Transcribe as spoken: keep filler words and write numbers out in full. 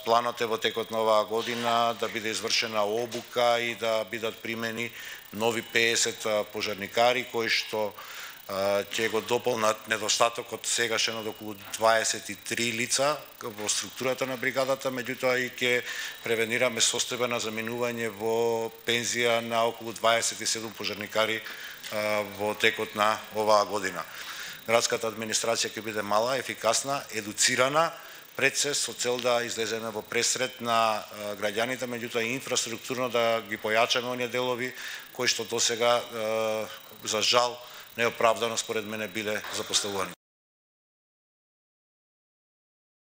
Планот е во текот на оваа година да биде извршена обука и да бидат примени нови пеесет пожарникари кои што ќе го дополнат недостатокот сегашен од околу дваесет и три лица во структурата на бригадата, меѓутоа и ќе превенираме состојба на заминување во пензија на околу дваесет и седум пожарникари во текот на оваа година. Градската администрација ќе биде мала, ефикасна, едуцирана, пред се со цел да излеземе во пресред на граѓаните, меѓутоа и инфраструктурно да ги појачаме оние делови кои што досега за жал неоправдано според мене биле запоставувани.